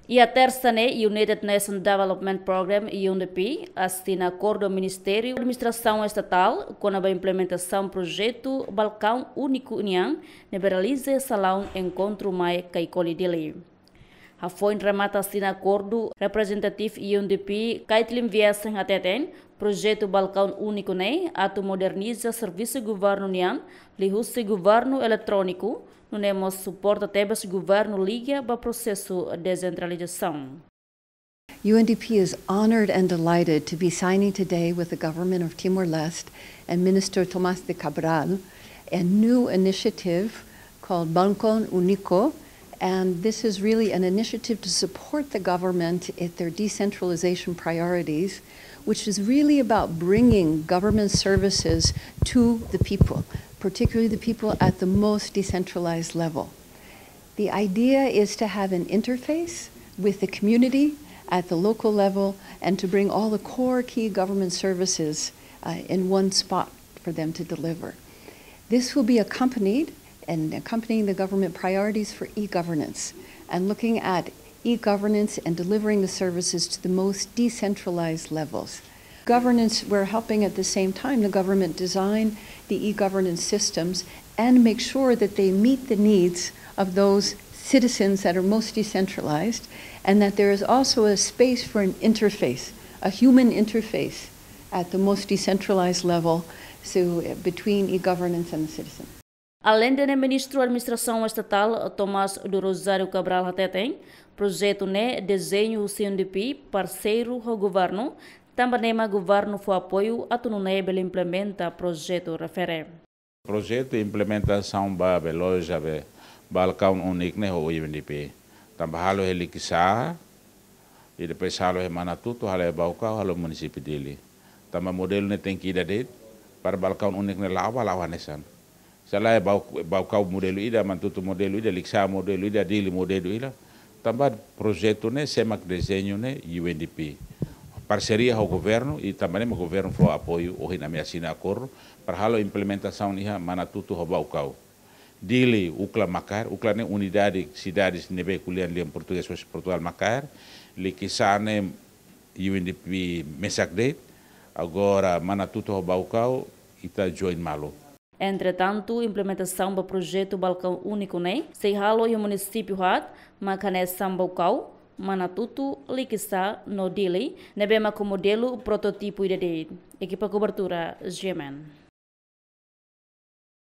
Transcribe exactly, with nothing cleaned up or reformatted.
Iha tersa ne'e, United Nations Development Programme, U N D P, asina akordu ho Ministériu Administrasaun Estatál kona-ba implementasaun projetu Balkaun Úniku nian, ne'ebé realiza iha salaun Enkontru Mai Kaikoli, Dili. Hafoin remata asina akordu, reprezentativu U N D P, Kaitlyn Viesen, hateten projetu Balkaun Úniku ne'e atu moderniza servisu governu nian liuhusi governu eletróniku, nune'e mós suporta tebes governu liga ba prosesu desentralizasaun. U N D P is honored and delighted to be signing today with the government of Timor-Leste and Minister Tomás de Cabral a new initiative called Balkaun Úniku. And this is really an initiative to support the government in their decentralization priorities, which is really about bringing government services to the people, particularly the people at the most decentralized level. The idea is to have an interface with the community at the local level and to bring all the core key government services, uh, in one spot for them to deliver. This will be accompanied and accompanying the government priorities for e-governance and looking at e-governance and delivering the services to the most decentralized levels. Governance, we're helping at the same time the government design the e-governance systems and make sure that they meet the needs of those citizens that are most decentralized, and that there is also a space for an interface, a human interface at the most decentralized level, so, uh, between e-governance and the citizen. Aleinde ne'e, Ministru Administrasaun Estatál, Tomás do Rosário Cabral, hateten projetu ne'e dezeñu husi U N D P, parseiru ho governu, tanba ne'e mak governu fó apoiu atu nune'e bele implementa projetu refere. Projetu implementasaun ba, be loja, be Balkaun Úniku ne'e ho U N D P. Tanba halo iha Likisá, i depois halo iha Manatutu, halo iha Baucau, halo munisípiu Dili. Tanba modelu ne'e tenke ida de'it, para Balkaun Úniku ne'e la'o ba, la'o hanesan. Se lae Bau-, Baucau modelu ida, Manatutu modelu ida, Likisá modelu ida, Dili modelu ida. Tanba projetu ne'e, sé mak dezeñu ne'e, U N D P. Parseria ho governu, i tanba ne'e mak governu fó apoiu, ohin ami asina akordu, para halo implementasaun iha Manatutu ho Baucau. Dili, UCLA Macaer, UCLA ne'e Unidade Cidades ne'ebé ko'alia lian portugés, husi Portugal, Macaer, Likisá ne'e U N D P mesak de'it, agora Manatutu ho Baucau, ita join malu. Entretantu, implementasaun ba projetu Balkaun Úniku ne'e sei halo iha munisípiu haat, mak hanesan Baucau, Manatutu, Likisá no Dili, ne'ebé mak ho modelu prototipu ida de'it. Ekipa kobertura, G M N.